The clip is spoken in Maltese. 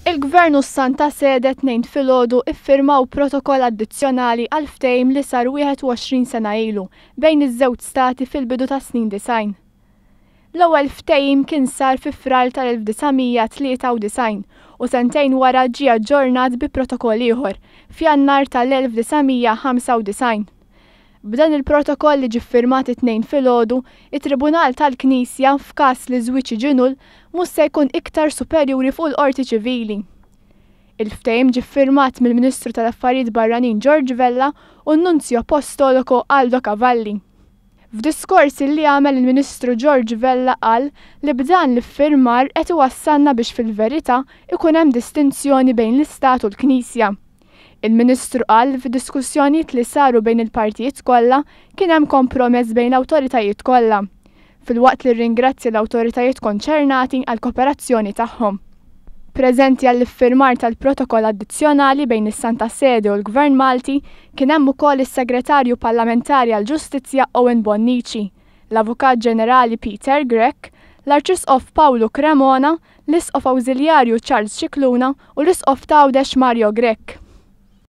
Il-Gvern u s-Santa Sede t-Tnejn filgħodu iffirmaw protokoll addizzjonali għal ftehim li sar 21 sena ilu bejn iż-żewġ stati fil-bidu tas-snin 90. L-ewwel ftehim kien sar fi Frar tal-1993 u sentejn wara ġie aġġornat bi protokoll ieħor f'Jannar tal-1995. B'dan il-protokoll li ġie ffirmat it-Tnejn filgħodu, it-Tribunal tal-Knisja, f'każ li żwieġ jiġi null, mhux se jkun iktar superjuri fuq il-Qorti Ċivili. Il-ftehim ġie ffirmat mill-Ministru tal-Affarijiet Barranin George Vella u n-Nunzju Apostoloko Aldo Cavalli. F'diskors li għamel il-Ministru George Vella qal li b'dan l-iffirmar qed iwassalna biex fil-verità ikun hemm distinzjoni bejn l-Istat u l-Knisja. Il-Ministru qal li fid-diskussjonijiet li saru bejn il-partijiet kollha kien hemm kompromess bejn l-awtoritajiet kollha, filwaqt li rringrazzja l-awtoritajiet konċernati għall-koperazzjoni tagħhom. Preżenti għall-iffirmar tal-protokoll addizzjonali bejn is-Santa Sede u l-Gvern Malti kien hemm ukoll is-Segretarju Parlamentari għall-Ġustizzja Owen Bonnici, l-Avukat Ġenerali Peter Grech, l-Arċisqof Pawlu Cremona, l-Isqof Awżiljarju Charles Scicluna u l-Isqof t'Għawdex Mario Grech.